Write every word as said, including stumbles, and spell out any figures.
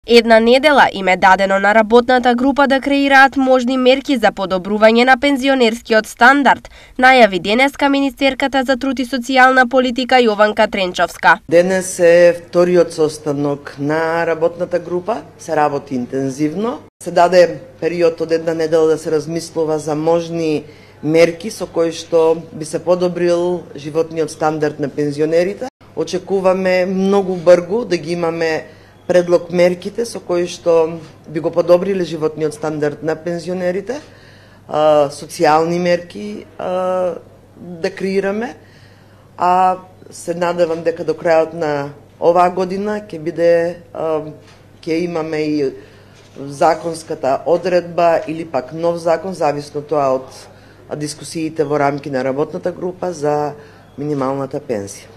Една недела им е дадено на работната група да креираат можни мерки за подобрување на пензионерскиот стандард, најави денеска министерката за труд и социјална политика Јованка Тренчовска. Денес е вториот состанок на работната група, се работи интензивно. Се даде период од една недела да се размислува за можни мерки со кои што би се подобрил животниот стандард на пензионерите. Очекуваме многу брзо да ги имаме предлог мерките со кои што би го подобриле животниот стандард на пензионерите, а, социјални мерки а, да креираме, а се надевам дека до крајот на оваа година ќе биде а, ќе имаме и законската одредба или пак нов закон, зависно тоа од дискусиите во рамки на работната група за минималната пензија.